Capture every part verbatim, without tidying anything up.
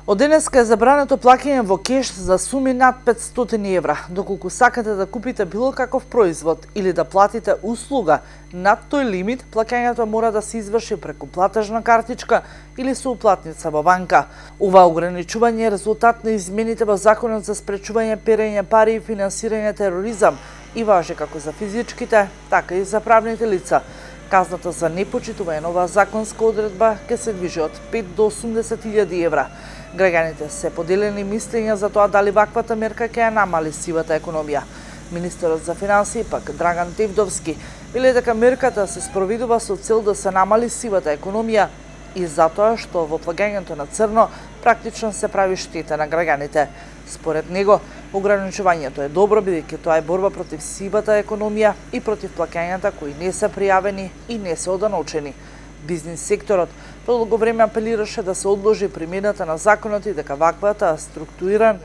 Од денеска е забрането плаќање во кеш за суми над петстотини евра. Доколку сакате да купите било каков производ или да платите услуга над тој лимит, плаќањето мора да се изврши преку платежна картичка или со уплатница во банка. Ова ограничување е резултат на измените во Законот за спречување перење пари и финансирање тероризам и важи како за физичките, така и за правните лица. Казната за непочитување на оваа законска одредба ќе се движи од пет до осумдесет илјади евра. Граѓаните се поделени мислења за тоа дали ваквата мерка ќе ја намали сивата економија. Министерот за финансии пак Драган Тевдовски вели дека мерката се спроведува со цел да се намали сивата економија и затоа што во плагањето на црно практично се прави штета на граѓаните. Според него, ограничувањето е добро бидејќи тоа е борба против сивата економија и против плаќањата кои не се пријавени и не се оданочени. Бизнис секторот продолго време апелираше да се одложи примената на законот и дека ваквата структуриран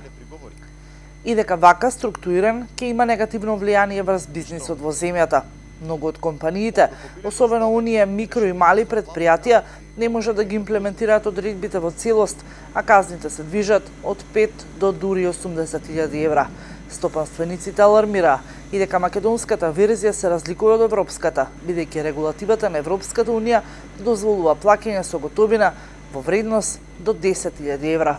и дека вака структуриран ќе има негативно влијание врз бизнисот во земјата. Многу од компаниите, особено оние микро и мали предпријатија, не може да ги имплементираат одредбите во целост, а казните се движат од пет до дури осумдесет илјади евра. Стопанствениците алармираа и дека македонската верзија се разликува од европската, бидејќи регулативата на Европската унија дозволува плаќање со готовина во вредност до десет илјади евра.